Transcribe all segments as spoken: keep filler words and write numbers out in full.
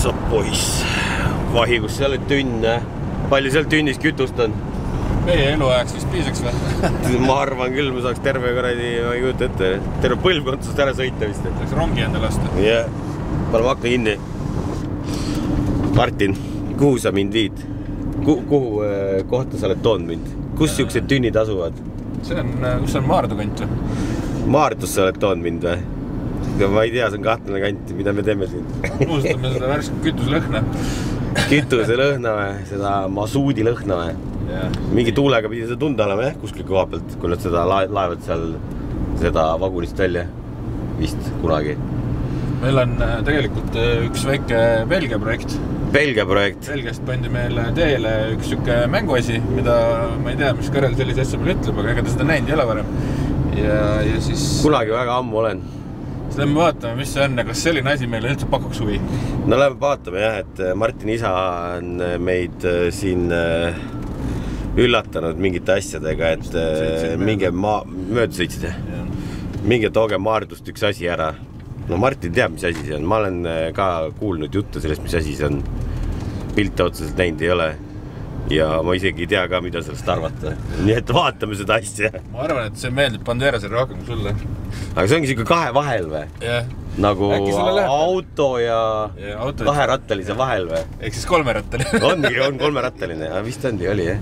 sa poiss. Vahi, kus seal on tünn. Palju seal tünnis kütust on? Meie eluajaks vist piisaks või? Ma arvan küll, ma saaks terve korradi, ma ei kujuta ette. Terve põlvkondsust ära sõita vist. Saaks rongi enda lasta. Jah, paneme akna kinni. Martin, kuhu sa mind viid? Kuhu kohta sa oled toonud mind? Kus siuksed tünnid asuvad? See on, kus on Maardu kant või? Maardus sa oled toonud mind või? Ma ei tea, see on kahtlane kant, mida me teeme siin. Uustame seda värske kütuselõhna. Kütuselõhna või? Seda masuudi lõhna või? Mingi tuulega pidi seda tunda olema, jah, kuskil koha pealt, kui nad seda laevad seal seda vagunist välja vist kunagi. Meil on tegelikult üks väike Belgia projekt. Belgia projekt? Belgiast pandi meile teele üks süke mänguasi, mida ma ei tea, mis Karel sellise asja meil ütleb, aga ega ta seda näinud ei ole varem. Ja, ja siis... Kunagi väga ammu olen. Siis lähme vaatame, mis see on ja kas selline asi meile üldse pakuks huvi. No lähme vaatame jah, et Martin isa on meid siin üllatanud mingite asjadega, et minge mööda sõitsid. Minge tooge Maardust üks asi ära. No Martin teab, mis asi see on. Ma olen ka kuulnud juttu sellest, mis asi see on. Pilte otseselt näinud ei ole. Ja ma isegi ei tea ka, mida sellest arvata. Nii et vaatame seda asja. Ma arvan, et see meeldib Banderasele rohkem kui sulle. Aga see ongi siuke kahe vahel või? Jah. Nagu auto ja kaherattalise vahel või? Ehk siis kolmerattaline. Ongi, on kolmerattaline. Vist ondi oli, jah.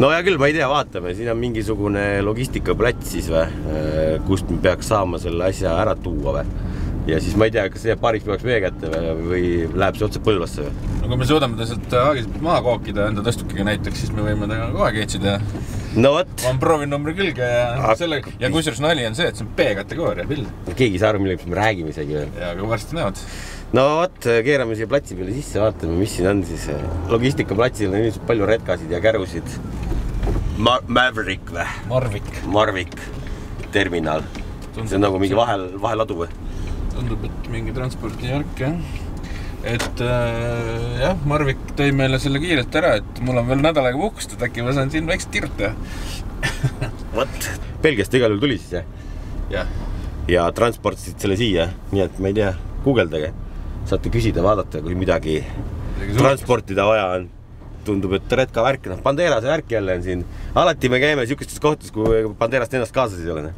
No ja küll, ma ei tea, vaatame. Siin on mingisugune logistikaplats siis või, kust me peaks saama selle asja ära tuua või. Ja siis ma ei tea, kas see paariks peaks meie kätte või läheb see otse Põlvasse või? No kui me suudame ta sealt Haagiselt maha kookida enda tõstukiga näiteks, siis me võime ta kohe keetsida. No võt. Ma on proovin numbri külge ja selle... Ja kusjuures nali on see, et see on B-kategooria pill. Keegi ei saa aru, millega me räägime isegi veel. Ja, aga varsti näevad. No võt, keerame siia platsi peale sisse, vaatame, mis siin on siis. Logistikaplatsil on ilmselt palju retkasid ja kärusid. Ma Maverick või? Marvik. Marvik. Terminal. See on nagu mingi vahel, vaheladu või? Tundub, et mingi transpordijärk, jah. Et äh, jah, Marvik tõi meile selle kiirelt ära, et mul on veel nädalaga puhkust, et äkki ma saan siin väikselt tirta. Võt. Belgiast igal juhul tuli siis, jah? Jah. Ja transportisid selle siia, nii et ma ei tea, guugeldage. Saate küsida, vaadata, kui midagi transportida vaja on. Tundub, et redka värk, noh, Banderase värk jälle on siin. Alati me käime siukestes kohtas, kui Banderast ennast kaasas ei ole.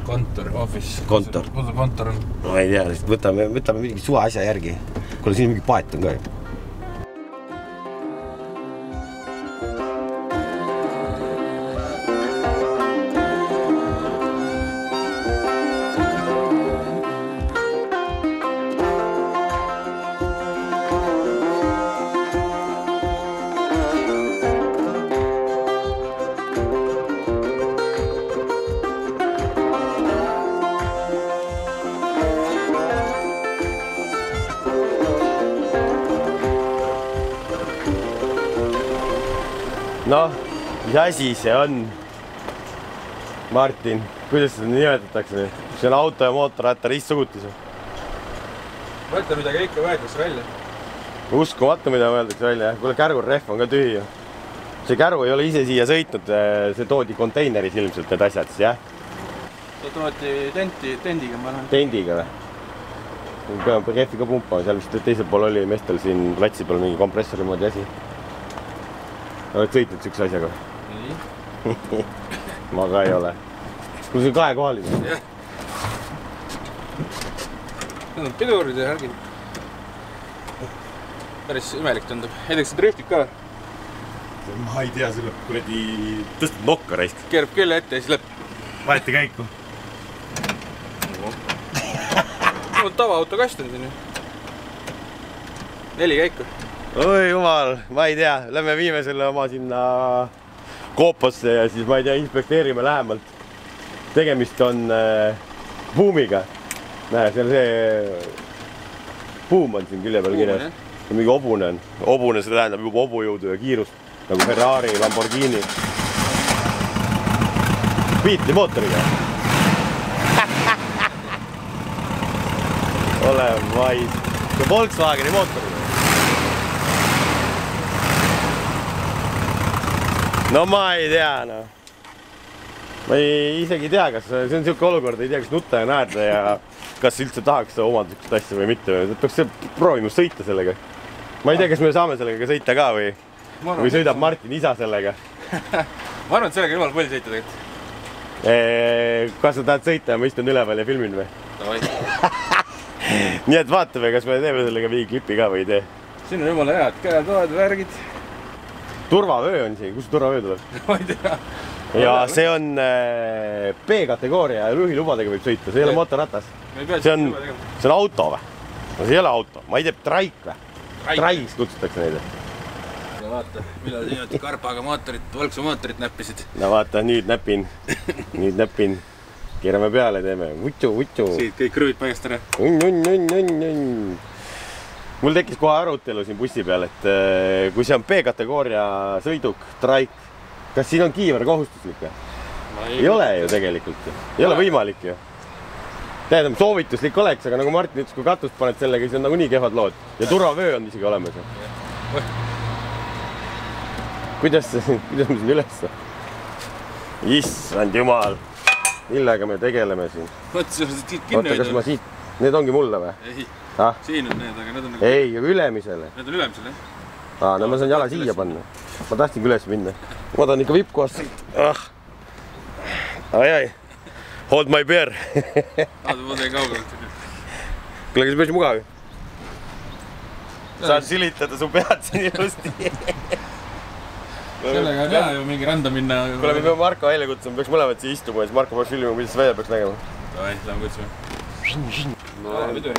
Kontor, office. Kontor. Kus see kontor on? Ma ei tea, võtame, võtame mingi suva asja järgi. Kuule, siin mingi paet on ka. Noh, mis asi see on? Martin, kuidas seda nimetatakse? See on auto ja mootorratta ristsugutis. Mõtle, mida kõike võetakse välja. Uskumatu, mida võetakse välja. Kuule, kärgur rehv on ka tühi. See käru ei ole ise siia sõitnud. See toodi konteineris ilmselt need asjad, siis jah? See toodi tenti, tendiga, ma olen. Tendiga või? Peame rehvi ka pumpama. Seal vist teisel pool oli mestel siin platsi peal mingi kompressori moodi asi. Oled sõitnud sükse asjaga? Ei. Ma ka ei ole. Kuule, see on kahe kohaline. Jah. Need on pidurid ja härgid. Päris imelik tundub. Heideks see driftib ka? Ma ei tea, selle kuradi tõstad nokka raisk. Keerab küll ette ja siis läheb. Vaeti käiku. Mul on tavaauto kast on siin ju. Neli käiku. Oi jumal, ma ei tea, lähme viime selle oma sinna koopasse ja siis ma ei tea, inspekteerime lähemalt. Tegemist on äh, buumiga. Näe, see on see buum on siin külje peal kirjas. Mingi obune on. Obune, see tähendab juba obujõudu ja kiirust. Nagu Ferrari, Lamborghini. Beatli mootoriga. Ole mais. See Volkswageni mootoriga. No ma ei tea, no. ma ei isegi tea, kas see on siuke olukord, ei tea, kas nutta ja naerda ja kas üldse tahaks omada siukest asja või mitte. Peaks proovima sõita sellega. Ma ei tea, kas me saame sellega sõita ka või, või sõidab Martin isa sellega. Ma arvan, et sellega jumal palju sõita tegelikult. Kas sa tahad sõita ja ma istun üleval ja filmin või? Nii et vaatame, kas me teeme sellega mingi klipi ka või ei tee. Siin on jumala head käetoad, värgid. Turvavöö on siin, kus turvavöö tuleb? Ma ei tea. Ja see on B-kategooria ja juhilubadega võib sõita, see ei ole motoratas. See on, see on auto või? No see ei ole auto, ma ei tea, traik või? Traiks kutsutakse neid. No vaata, millal siin karpaga mootorit, Volksu mootorit näppisid. No vaata, nüüd näpin, nüüd näpin. Keerame peale, teeme vutsu, vutsu. Siit kõik krõvid paigast ära. Unn, unn, unn, unn, unn. Mul tekkis kohe arutelu siin bussi peal, et kui see on B-kategooria sõiduk, traik, kas siin on kiiver kohustuslik või? Ei ole ju tegelikult. Ei ole võimalik ju. Tähendab, soovituslik oleks, aga nagu Martin ütles, kui katust paned sellega, siis on nagu nii kehvad lood. Ja turvavöö on isegi olemas. Kuidas me siin üles? Issand jumal. Millega me tegeleme siin? Oota, kas ma siit... Need ongi mulle või? Ei, siin on need, aga need on nagu... Ei, ülemisele. Need on ülemisele, jah? Aa, no ma saan jala siia panna. Ma tahtsingi üles minna. Ma tahan ikka vippkohast siit. Ai, ai. Hold my beer. Aadu võtee kaugelt. Kuule, kas päris mugav? Saad silitada su pead siin ilusti. Sellega on hea ju mingi randa minna. Kuule, me peame Marko välja kutsuma, peaks mõlemad siia istuma ja siis Marko peaks filmima, kuidas see välja peaks nägema. Davai, lähme kutsume.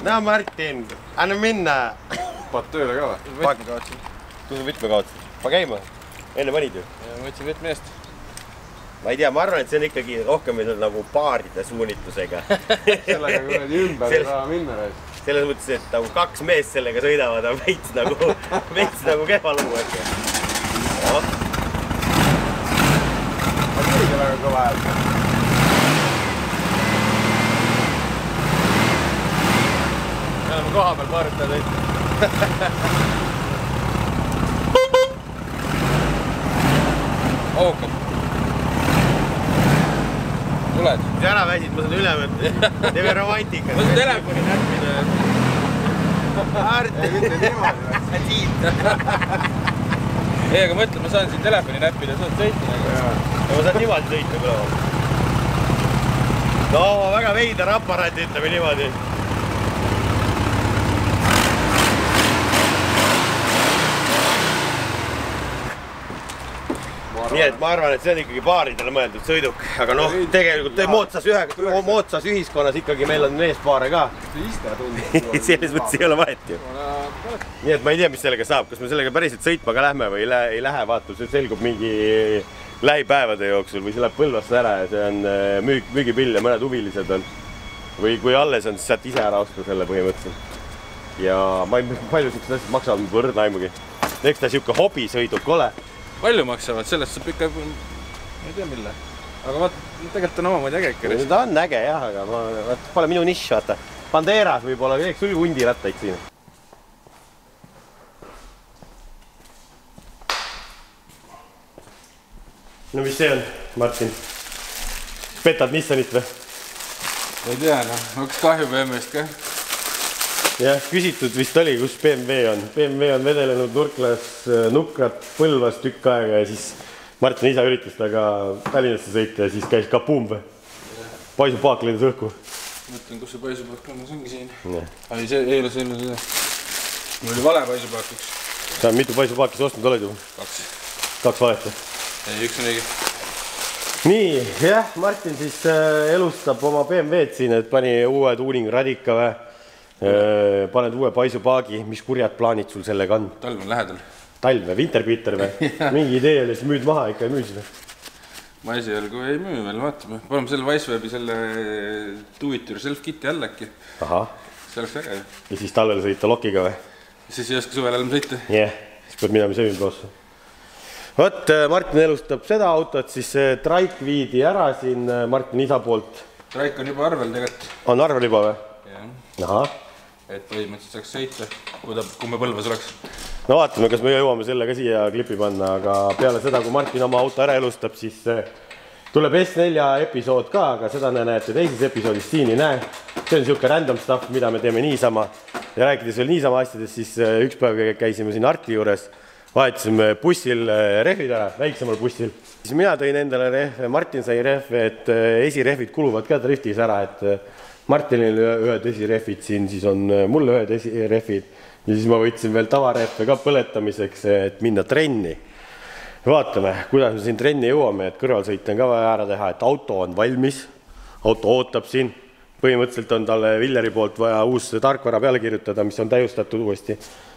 Näe Martin, anna minna. Paad tööle ka või? Võtme kaotsin. Kus on võtme kaotsin? Pa käima. Enne panid ju? Ma võtsin võtme eest. Ma ei tea, ma arvan, et see on ikkagi rohkem nagu paaride suunitusega. Sellega kuradi ümber ei taha minna. Selles mõttes, et nagu kaks meest sellega sõidavad, on veits nagu, veits nagu kehva lugu. Ma tuli väga kõva hääl. Me oleme koha peal paaritada sõita. Ookad. Tuled? Kui ära väsid, ma saan üle mõtta. Teeme romantika. Ma saan telefoni näppida. Aart. Ei, mitte niimoodi. Siit. Ei, aga mõtle, ma saan siin telefoni näppida, saad sõita. Ja ma saan niimoodi sõita küll. No, väga veidar aparaat, ütleme niimoodi. Nii et ma arvan, et see on ikkagi paaridele mõeldud sõiduk, aga noh, tegelikult moodsas, ühe, moodsas ühiskonnas ikkagi meil on meespaare ka. Selles mõttes ei ole vahet ju. Nii et ma ei tea, mis sellega saab, kas me sellega päriselt sõitma ka lähme või ei lähe, vaata, see selgub mingi lähipäevade jooksul või see läheb Põlvasse ära ja see on müük, müügipill ja mõned huvilised on. Või kui alles on, siis saad ise ära osta selle põhimõtteliselt. Ja ma ei palju siuksed asjad maksavad võrdna aimugi. Eks ta siuke hobisõiduk ole. Palju maksavad, sellest saab ikka, ma ei tea mille. Aga vaata, tegelikult on omamoodi äge ikka. Ta on äge jah, aga ma, vaata, pole minu nišš, vaata. Banderas võib-olla, teeks sul hundirattaid siin. No mis see on, Martin? Petad Nissanit või? Ei tea, noh, oleks kahju B M W-st ka. Jah, küsitud vist oli, kus B M W on. B M W on vedelenud nurklas Nukrat Põlvas tükk aega ja siis Martin isa üritas taga Tallinnasse sõita ja siis käis kapuum või? Paisupaak lendas õhku. Mõtlen, kus see paisupaak on, see ongi siin. Ai, see ei ole selle seda. Mul oli vale paisupaak üks. Sa mitu paisupaaki sa ostnud oled ju? Kaks. Kaks valeta? Ei, üks on õige. Nii, jah, Martin siis elustab oma B M W-d siin, et pani uue tuuning radika või? Paned uue paisupaagi, mis kurjad plaanid sul sellega on? Talv on lähedal. Talv või? Winterbeater või? Mingi idee oli, siis müüd maha, ikka ei müü seda. Ma esialgu ei müü veel, vaatame. Paneme selle Wisewebi selle do it yourself kiti alla äkki. Ahah. See oleks äge. Ja siis talvel sõita lokiga või? Siis ei oska suvel enam sõita. Jah, siis pead minema söömi poosse. Vot, Martin elustab seda autot, siis traik viidi ära siin Martin isa poolt. Traik on juba arvel tegelikult. On arvel juba või? Jah. Ahah. Et põhimõtteliselt saaks sõita, kui ta, kui me Põlvas oleks. No vaatame, kas me jõuame selle ka siia klipi panna, aga peale seda, kui Martin oma auto ära elustab, siis tuleb S nelja episood ka, aga seda näete teises episoodis, siin ei näe. See on siuke random stuff, mida me teeme niisama. Ja rääkides veel niisama asjadest, siis üks päev käisime siin Arti juures, vahetasime bussil rehvid ära, väiksemal bussil. Siis mina tõin endale rehve, Martin sai rehve, et esirehvid kuluvad ka driftis ära, et Martinil ühed esirehvid siin, siis on mul ühed esirehvid. Ja siis ma võtsin veel tavarehve ka põletamiseks, et minna trenni. Vaatame, kuidas me siin trenni jõuame, et kõrvalsõit on ka vaja ära teha, et auto on valmis, auto ootab siin. Põhimõtteliselt on talle Villeri poolt vaja uus tarkvara peale kirjutada, mis on täiustatud uuesti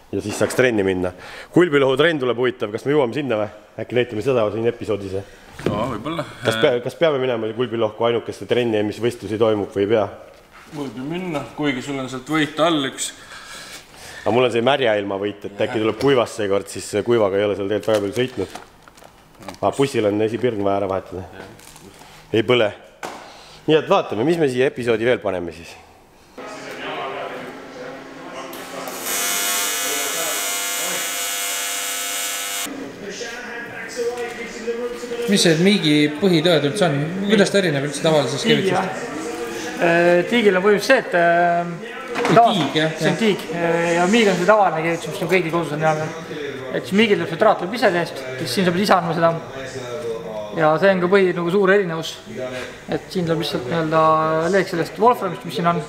ja siis saaks trenni minna. Kulbilohu trenn tuleb huvitav, kas me jõuame sinna või? Äkki näitame seda siin episoodis? No, võibolla. Kas, pea, kas peame minema Kulbilohku ainukeste trenni, mis võistlusi toimub või ei pea? Võib ju minna, kuigi sul on sealt võita all üks. Aga mul on see märja ilma võit, et äkki tuleb kuivast seekord, siis kuivaga ei ole seal tegelikult väga palju sõitnud. Ah, bussil on esipirn vaja ära vahetada. Ei põle. Nii et vaatame, mis me siia episoodi veel paneme siis. Mis see Miigi põhitööd üldse on? Kuidas ta erineb üldse tavalisest kevitusest? Tiigil on põhjus see, et tiig, jah. See on tiig ja Miig on see tavaline kevitus, mis on kõigil kodus on jäänud. Et siis Miigil tuleb see traat tuleb ise teest, siis siin saab ise andma seda. Ja see on ka põhi nagu suur erinevus. Et siin tuleb lihtsalt nii-öelda leek sellest Wolframist, mis siin on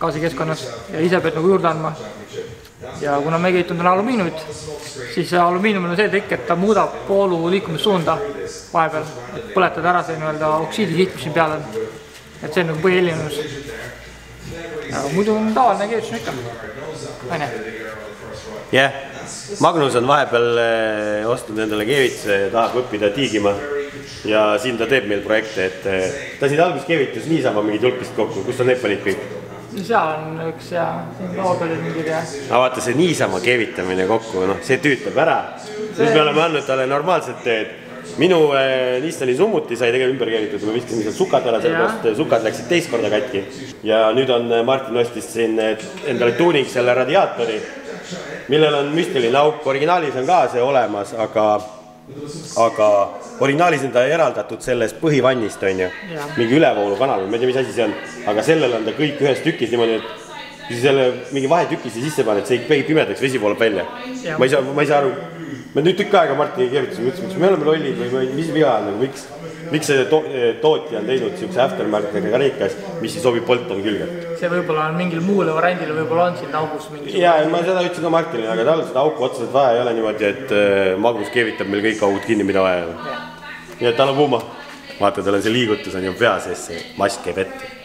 gaasikeskkonnas ja ise pead nagu juurde andma. Ja kuna me keitund on alumiinumit, siis alumiinumil on see trikk, et ta muudab poolu liikumissuunda vahepeal, et põletada ära see nii-öelda oksiidikiht, mis siin peal on. Et see on nagu põhilinus. Ja muidu on tavaline keevitus ikka. Aine. Jah, yeah. Magnus on vahepeal ostnud endale keevituse ja tahab õppida tiigima. Ja siin ta teeb meil projekte, et ta siin alguses keevitus niisama mingi tulpist kokku. Kus on need panid kõik? Seal on üks ja siin loodoli mingid ja... Aga vaata see niisama keevitamine kokku, no, see tüütab ära. Nüüd me oleme andnud talle normaalselt teed. Minu eh, Nissani summuti sai tegelikult ümber keevitud, me viskasime seal sukad ära, sellepärast sukad läksid teist korda katki. Ja nüüd on Martin ostis siin endale tuuning selle radiaatori, millel on müstiline auk. Originaalis on ka see olemas, aga, aga originaalis on ta eraldatud sellest põhivannist, on ju. Mingi ülevoolu kanal, ma ei tea, mis asi see on. Aga sellel on ta kõik ühes tükis niimoodi, et kui selle mingi vahetükisi sisse paned, see ei pimedaks, vesi voolab välja. Ma ei saa, ma ei saa aru. Me nüüd tükk aega Martini keevitusime, ütles, miks me oleme lollid või mis viga on, miks, miks see to tootja on teinud siukse aftermarketega karikas, mis siis sobib Bolton külge. See võib-olla on mingil muule variandil, võib-olla on siin augus mingi... Ja, ma seda ütlesin ka Martinile, aga tal seda auku otseselt vaja ei ole niimoodi, et Magnus keevitab meil kõik augud kinni, mida vaja. Nii et tal on kuuma. Vaata, tal on see liigutus on ju pea sees, see mask käib ette.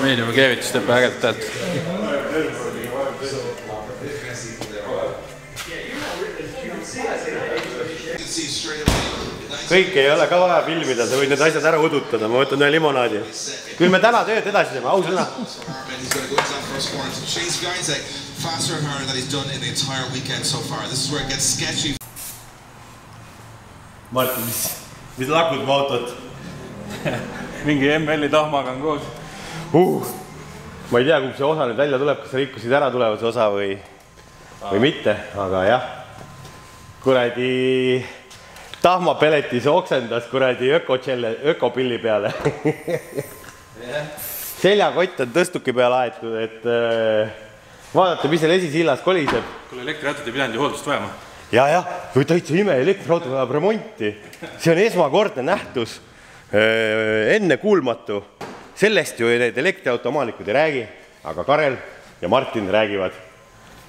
Miinima keevitus teeb ägedalt tält. Kõik ei ole ka vaja filmida, sa võid need asjad ära udutada, ma võtan ühe limonaadi. Küll me täna tööd edasi teeme, aus sõna. Martin, mis, mis lakud mu autot? Mingi M L-i tahmaga on koos. Uh, ma ei tea, kui see osa nüüd välja tuleb, kas rikkusid ära tulevase osa või, või mitte, aga jah. Kuradi tahmapeletis oksendas kuradi ökopilli peale. Seljakott on tõstuki peale aetud, et vaadata, mis seal esisillas koliseb. Kuule, elektriautot ei pidanud ju hooldust vajama. Ja, jah, või täitsa ime, elektriauto vajab remonti. See on esmakordne nähtus, enne kuulmatu. Sellest ju need elektriautomaanikud ei räägi, aga Karel ja Martin räägivad.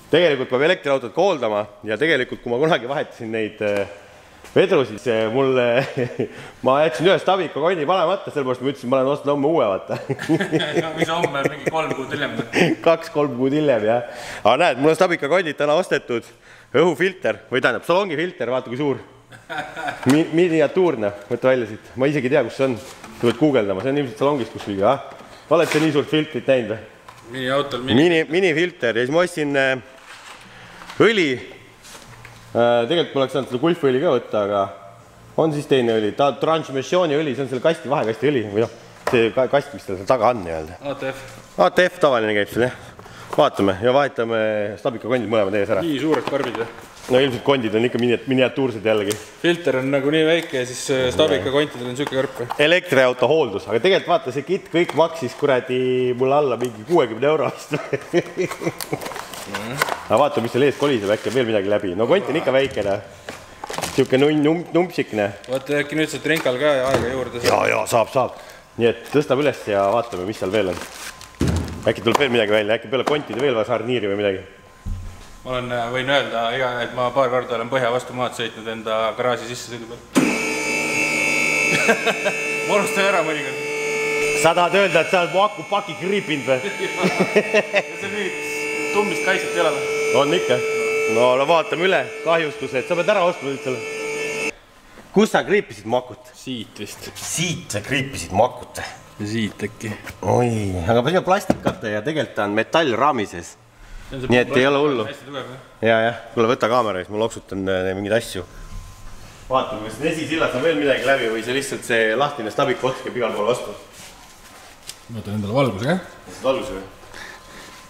Tegelikult peab elektriautot ka hooldama ja tegelikult, kui ma kunagi vahetasin neid vedru, siis mulle, ma jätsin ühe Stabika konni panemata, sellepärast ma ütlesin, ma olen ostnud homme uue, vaata. Mis homme mingi kolm kuud hiljem? Kaks-kolm kuud hiljem, jah. Aga näed, mul on Stabika konnid täna ostetud, õhufilter, või tähendab, salongifilter, vaata kui suur. Mi miniatuurne, võtta välja siit. Ma isegi tea, kus see on. Tu võid guugeldama, see on ilmselt salongist kus kõige, ah? Oled see nii suurt filtrit näinud või? Mini autol mini... Mini, mini filter ja siis ma ostsin äh, õli. Äh, tegelikult ma oleks saanud seda Gulf-õli ka võtta, aga on siis teine õli. Ta transmissiooni õli, see on selle kasti, vahekasti õli või noh, see kast, mis tal seal taga on nii-öelda. A T F. A T F tavaline käib seal, jah. Vaatame ja vahetame Stabika kondid mõlemad ees ära. Nii suured karbid või? No ilmselt kondid on ikka miniatuursed jällegi. Filter on nagu nii väike ja siis Stabika kontidel on süke karp. Elektriauto hooldus, aga tegelikult vaata see kit kõik maksis kuradi mulle alla mingi kuuekümne euro vist. Aga vaata, mis seal ees koliseb, äkki veel midagi läbi. No kont on ikka väikene. Siuke numpsikne. Vaata äkki nüüd saad Renkal ka aega juurde. Ja, ja, saab, saab. Nii et tõstab üles ja vaatame, mis seal veel on. Äkki tuleb veel midagi välja, äkki peale kontide veel vaja sarniiri või midagi. Ma olen, võin öelda, et ma paar korda olen Põhja vastu maad sõitnud enda garaaži sisse sõidu peal. Ma unustan ära mõnikord. Sa tahad öelda, et sa oled mu aku paki kriipinud või? See mingit tummist kaitset ei ole või? On ikka. No vaatame üle, kahjustused. Sa pead ära ostma nüüd selle. Kus sa kriipisid makut? Siit vist. Siit sa kriipisid makut? Siit äkki. Oi, aga see on plastikate ja tegelikult on metallraamises. Nii et ei ole hullu. Ja, jah, kuule võta kaamera, siis ma loksutan mingeid asju. Vaatame, kas Nesisillas on veel midagi läbi või see lihtsalt see lahtine Stabik ots käib igal pool vastu. Võtan endale valguse, jah? Valguse või?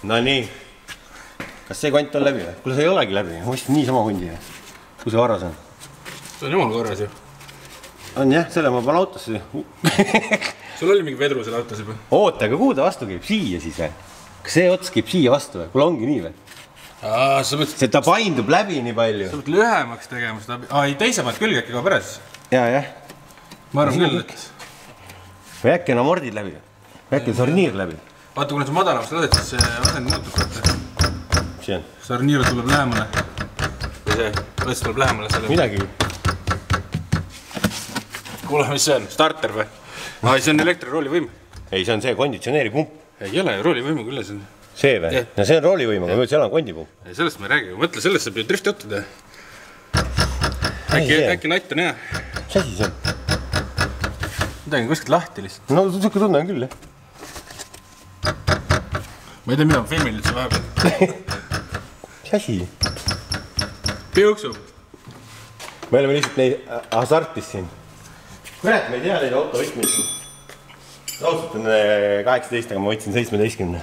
No nii. Kas see kont on läbi või? Kuule, see ei olegi läbi. Ma ostsin nii sama hundi. Kus see varras on? See on jumal korras ju. On jah, selle ma panen autosse. Sul oli mingi vedru selle autos juba? Oota, aga kuhu ta vastu käib? Siia siis või? Kas see ots käib siia vastu või? Kuule ongi nii või? Aa, sa mõtled... See ta paindub läbi nii palju. Sa mõtled lühemaks tegema seda... Aa, ei teisemaid külge äkki ka pärast. Jaa, jah. Ma arvan küll, et... Või äkki on amordid läbi? Või äkki on sarniir läbi? Vaata, kui nad see madalamast lased, siis see asend muutub. Mis see on? Sarniir tuleb lähemale. Või see, võts tuleb lähemale selle... Midagi. Kuule, mis see on? Starter või? Aa, see on elektriroolivõim. Ei, see on see konditsioneeripump. Ei ole, roolivõimuga üle see on. See või? No see on roolivõimuga, ma ütlen, seal on kondipump. Ei, sellest ma ei räägi. Mõtle, sellest saab ju drifti ottuda. Äkki natt on hea. Mis asi see on? Midagi on kuskilt lahti lihtsalt. No, suke tunne on küll, jah. Ma ei tea, mida ma filmin üldse vahepeal. Mis asi? Piuksub. Me oleme lihtsalt neid hasartis siin. Kurat, ma ei tea neid autovõtmid. Raudselt on kaheksateist, aga ma võtsin seitsmeteistkümne.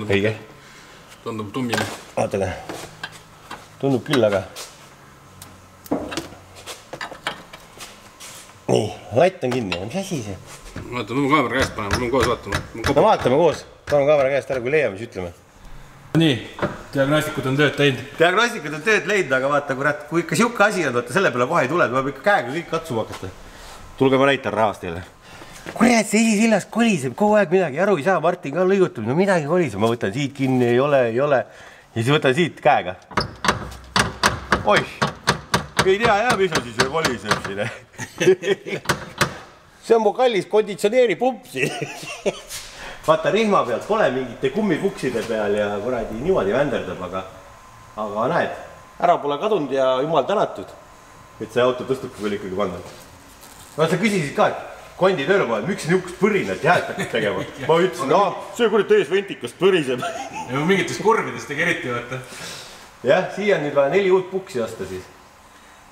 Õige. Tundub tummine. Vaatale. Tundub küll, aga... Nii, latt on kinni. Mis asi see? Vaata, ma kaamera käest panen, ma pean koos vaatama. No vaatame koos. Panen kaamera käest ära, kui leiame, siis ütleme. Nii, diagnostikud on tööd teinud. Diagnostikud on tööd leidnud, aga vaata, kurat, kui ikka siuke asi on, vaata, selle peale kohe ei tule, peab ikka käega kõik katsuma hakata. Tulge ma näitan rahvast teile. Kurat, see esisillas koliseb kogu aeg midagi, aru ei saa, Martin ka lõigutab, no midagi koliseb, ma võtan siit kinni, ei ole, ei ole. Ja siis võtan siit käega. Oih, ei tea jah, mis on siis koliseb siin. See on mu kallis konditsioneeripump siin. Vaata, rihma pealt pole mingite kummipukside peal ja kuradi niimoodi vänderdab, aga, aga näed, ära pole kadunud ja jumal tänatud, et see auto tõstubki veel ikkagi panna. No sa küsisid ka, et kondi tööle poole, miks niukest põrinat jääd hakkad tegema? Ma ütlesin, see kurat ees ventikast põriseb. Ja mingitest kurvidest tegi eriti, vaata. Jah, siia on nüüd vaja neli uut puksi osta siis.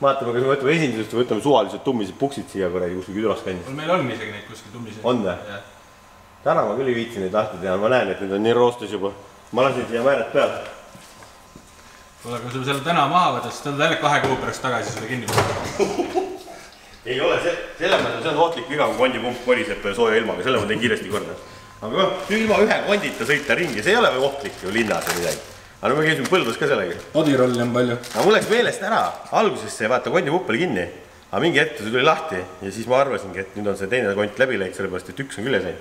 Vaatame, kas me võtame esindusest või võtame suvalised tummised puksid siia kuradi kuskil külas kandis. Meil on isegi neid kuskil tummised. On või? Täna ma küll ei viitsi neid lahti teha, ma näen, et need on nii roostes juba. Ma lasin siia määrad peale. Kuule, kui sul selle täna maha võtad, siis tõled jälle kahe kuu pärast tagasi selle kinni. Ei ole, selle mõttes see on ohtlik viga, kui kondipump koriseb sooja ilmaga, selle ma teen kiiresti korda. Aga ilma ühe kondita sõita ringi, see ei ole ohtlik ju linnas või midagi. Aga me käisime Põldus ka sellega. Adirolli on palju. Aga mul läks meelest ära, alguses see vaata kondipump oli kinni. Aga mingi hetk see tuli lahti ja siis ma arvasingi, et nüüd on see teine kont läbi läinud, sellepärast, et üks on küll sain.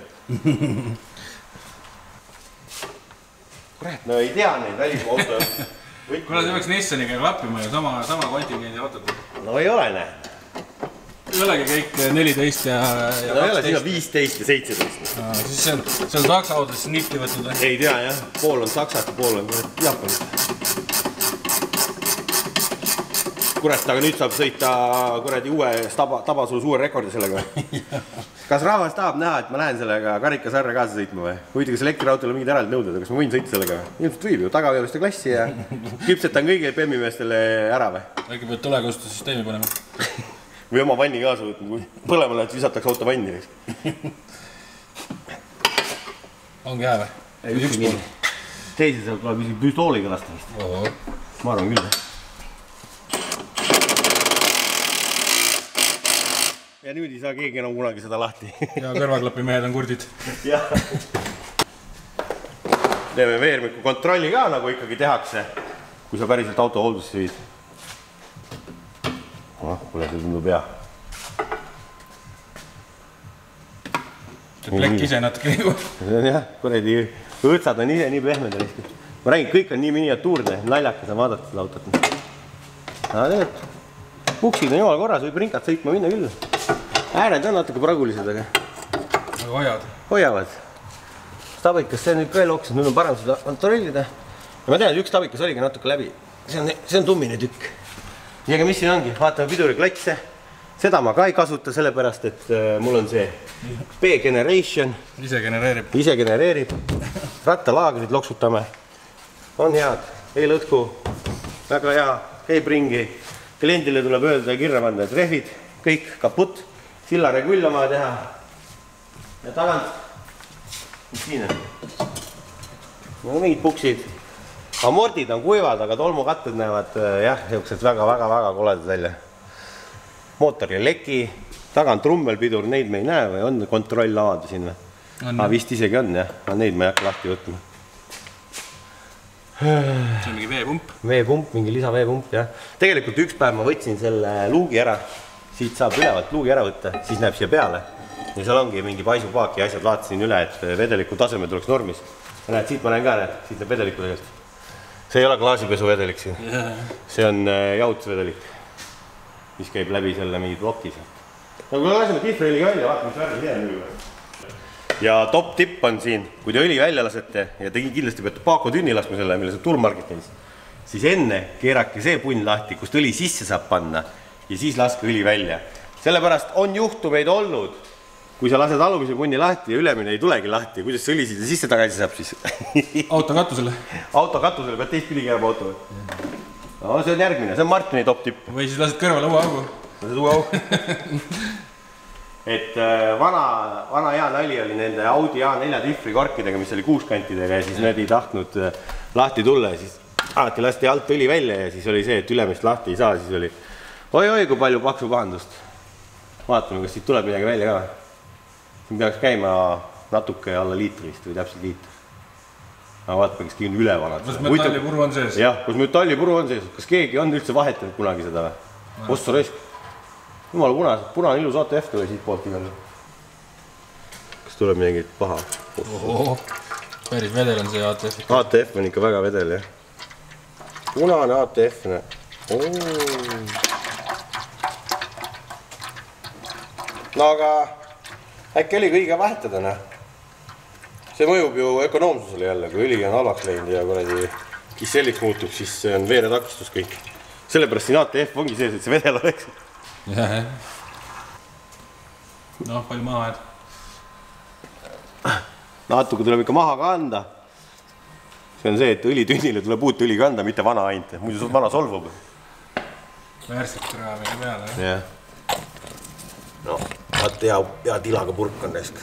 Kurat, no ei tea neid välismaa auto. Kuule, see peaks Nissaniga lappima ja sama, sama kontingendi autod. No ei ole, näe. Ei olegi kõik neliteist ja kaksteist. No ei ole, siin on viisteist ja seitseteist. Siis see on, see on Saksa autodes nipti võtnud. Ei tea, jah. Pool on Saksat ja pool on Jaapan. Kurat, aga nüüd saab sõita kuradi uue Tabasulus uue rekordi sellega. Kas rahvas tahab näha, et ma lähen sellega karikasarja kaasa sõitma või? Huvitav, kas elektriautole mingid eraldi nõuded, kas ma võin sõita sellega või? Ilmselt võib ju, tagaveoliste klassi ja küpsetan kõigile pemmimeestele ära või? Äkki pead tulekostussüsteemi panema? või oma vanni kaasa võtnud, kui põlema lähed, visatakse auto vanni. Ongi hea või? Üks pool. Teise seal tuleb isegi püstooliga lasta vist. Ma arvan küll. Ja nüüd ei saa keegi enam kunagi seda lahti. Ja kõrvaklapi mehed on kurdid. Jah. Teeme veermiku kontrolli ka, nagu ikkagi tehakse, kui sa päriselt auto hooldusse viid. Ah, kuule, see tundub hea. See plekk ise natuke nagu. See on jah, kuredi õõtsad on ise nii pehmed. Ma räägin, kõik on nii miniatuurne, naljakas on vaadata seda autot. Aga tegelikult, puksid on jumal korras, võib ringad sõitma minna küll. Ääred on natuke pragulised, aga aga hoiavad. Hoiavad. Tabikas, see on nüüd ka elooks, nüüd on parem seda kontrollida. Ja ma tean, et üks tabikas oligi natuke läbi. See on, see on tummine tükk. Ja aga mis siin ongi, vaatame piduriklatse. Seda ma ka ei kasuta, sellepärast, et mul on see B-generation. Ise genereerib. Ise genereerib. Rattalaagrid loksutame. On head, ei lõtku. Väga hea, käib ringi. Kliendile tuleb öelda ja kirja panna, et rehvid, kõik kaput. Silla regull on vaja teha. Ja tagant. Mis siin on? No mingid puksid. Amordid on kuivad, aga tolmukatted näevad jah, jõuksed väga-väga-väga koledad välja. Mootor ja leki, tagant rummelpidur, neid me ei näe või on kontroll avada sinna? Aga vist isegi on jah, aga neid ma ei hakka lahti võtma. See on mingi veepump? Veepump, mingi lisa veepump jah. Tegelikult üks päev ma võtsin selle luugi ära, siit saab ülevalt luugi ära võtta, siis näeb siia peale. Ja seal ongi mingi paisupaak ja asjad vaatasin üle, et vedeliku taseme tuleks normis. Ja näed, siit ma näen ka, näed, siit näeb vedeliku tegelikult. See ei ole klaasipesu vedelik siin. See on jahutusvedelik, mis käib läbi selle mingi ploki sealt. Nagu kui laseme tifriõli välja, vaata, mis värvi see on nüüd. Ja top tipp on siin, kui te õli välja lasete ja te kindlasti peate Paako tünni laskma selle, mille see turmarketis, siis enne keerake see punn lahti, kust õli sisse saab panna ja siis laske õli välja. Sellepärast on juhtumeid olnud, kui sa lased alumise punni lahti ja ülemine ei tulegi lahti, kuidas see õli siia sisse tagasi saab siis? Auto katusele? Auto katusele, pead teist pidi keerama auto. No see on järgmine, see on Martini top tipp. Või siis lased kõrvale uue augu? Lased uue augu. Et vana, vana hea nali oli nende Audi A neli tifri korkidega, mis oli kuuskantidega ja siis need ei tahtnud lahti tulla ja siis alati lasti alt õli välja ja siis oli see, et ülemist lahti ei saa, siis oli oi-oi, kui palju paksu pahandust. Vaatame, kas siit tuleb midagi välja ka. Siin peaks käima natuke alla liitrist või täpselt liitr. Aga vaatame, kas keegi on üle vanad. Kas metallipuru on sees? Jah, kas metallipuru on sees. Kas keegi on üldse vahetanud kunagi seda või? Ossa raisk. Jumala punased, punane ilus A T F tuli siit poolt igal. Kas tuleb midagi paha? Oho, päris vedel on see A T F. A T F on ikka väga vedel, jah. Punane A T F, näe. No aga äkki oli kõige vahetada, näe. See mõjub ju ökonoomsusele jälle, kui õli on halvaks läinud ja kuradi kisselliks muutub, siis see on veeretakistus kõik. Sellepärast siin A T F ongi sees, et see vedel oleks. Jah, jah. Noh, palju maha jääd? Natuke tuleb ikka maha kanda. See on see, et õlitünnile tuleb uut õli kanda, mitte vana ainult. Muidu vana solvub. Väärselt kraamine peale, jah? Jah. No, vaat hea, hea tilaga purk on nesk.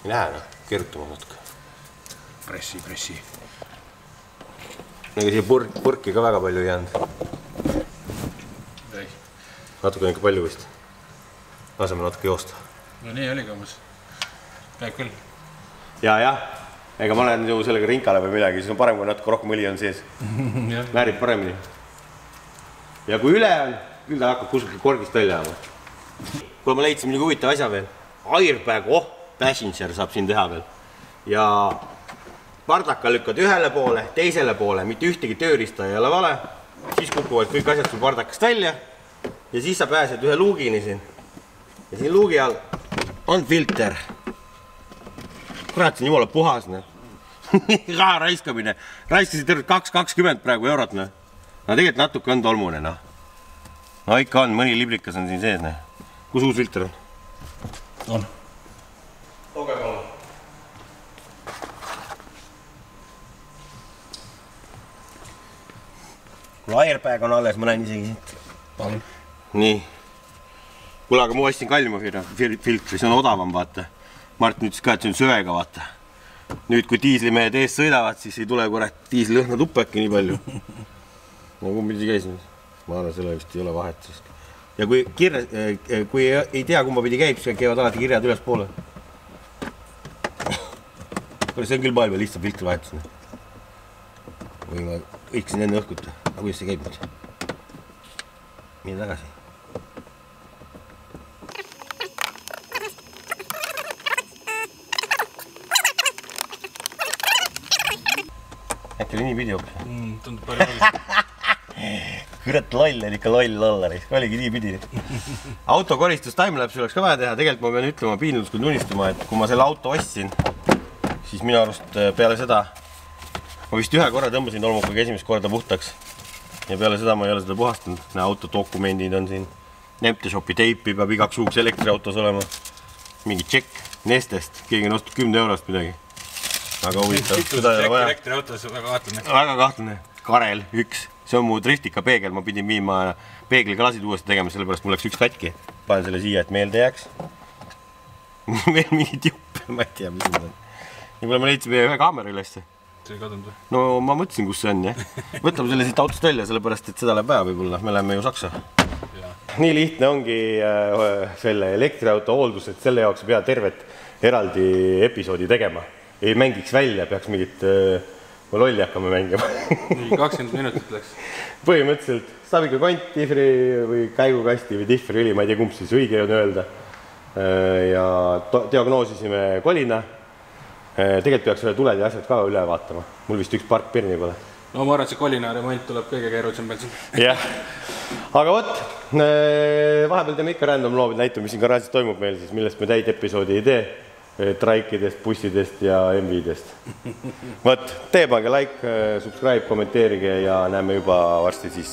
Ei näe, noh, keerutama natuke. Pressi, pressi. Ega siia purk, purki ka väga palju ei jäänud. Natuke on ikka palju vist. Laseme natuke joosta. No nii oligi umbes. Käib küll. Ja, jah. Ega ma olen ju sellega rinkale või midagi, siis on parem, kui natuke rohkem õli on sees. Määrib paremini. Ja kui üle on, küll ta hakkab kuskil korgist välja jääma. Kui ma leidsin mingi huvitav asja veel. Airbag, oh, passenger saab siin teha veel. Ja pardaka lükkad ühele poole, teisele poole, mitte ühtegi tööriista ei ole vale. Siis kukuvad kõik asjad sul pardakast välja. Ja siis sa pääsed ühe luugini siin. Ja siin luugi all on filter. Kurat, see on jumala puhas, ne? Raha raiskamine. Raiskasid tervelt kaks kakskümmend praegu eurot, ne? No tegelikult natuke on tolmune, noh. No ikka on, mõni liblikas on siin sees, ne? Kus uus filter on? On. Tooge palun. Kui airbag on alles, ma näen isegi siit. Palun. nii. Kuule, aga ma ostsin kallima filtri, see on odavam, vaata. Martin ütles ka, et see on söega, vaata. Nüüd, kui diislimehed ees sõidavad, siis ei tule kurat diisli õhna tuppaki nii palju. No kumbidi käisin. Ma arvan, selle vist ei ole vahet. Ja kui, kirja, kui ei tea, kumba pidi käib, siis käivad alati kirjad üles poole. See on küll maailma lihtsam filtri vahetus. Või ma õiksin enne õhkuta. Aga kuidas see käib nüüd? Mine tagasi. Äkki oli nii pidi hoopis? Mm, tundub palju palju. Kõrat loll on ikka loll olla, oligi nii pidi. Autokoristus timelapse oleks ka vaja teha. Tegelikult ma pean ütlema, piinlus kui tunnistama, et kui ma selle auto ostsin, siis minu arust peale seda ma vist ühe korra tõmbasin tolmukaga esimest korda puhtaks ja peale seda ma ei ole seda puhastanud. Autodokumendid on siin, Nemteshopi teipi peab igaks juhuks elektriautos olema, mingi tšekk Nestest, keegi on ostnud kümne eurost midagi. Väga huvitav, seda ei ole vaja. Elektriautos väga kahtlane. Väga kahtlane. Karel, üks. See on mu driftika peegel, ma pidin viima peegliklasid uuesti tegema, sellepärast mul läks üks katki. Panen selle siia, et meelde jääks. Veel mingid juppe, ma ei tea, mis need on. Nii palju ma leidsin meie ühe kaamera ülesse. See ei kadunud või? No ma mõtlesin, kus see on, jah. Võtame selle siit autost välja, sellepärast, et seda läheb vaja võib-olla. Me läheme ju Saksa. Nii lihtne ongi selle elektriauto hooldus, et selle jaoks pea tervet eraldi episoodi tegema. Ei mängiks välja, peaks mingit lolli hakkama mängima. Nii kakskümmend minutit läks. Põhimõtteliselt saab ikka kont, difri või käigukasti või difri üli, ma ei tea, kumb siis õige on öelda. Ja diagnoosisime kolina. Tegelikult peaks tuled ja asjad ka üle vaatama. Mul vist üks park pirni pole. No ma arvan, et see kolina remont tuleb kõige keerulisem peal siin. Jah. Aga võt, vahepeal teeme ikka random loobid näitu, mis siin garaažis toimub meil, siis millest me täid episoodi ei tee. Traikidest, bussidest ja M V-dest. Võt, tee pange like, subscribe, kommenteerige ja näeme juba varsti siis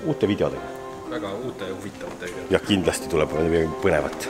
uute videodega. Väga uute ja huvitavatega. Ja kindlasti tuleb põnevat.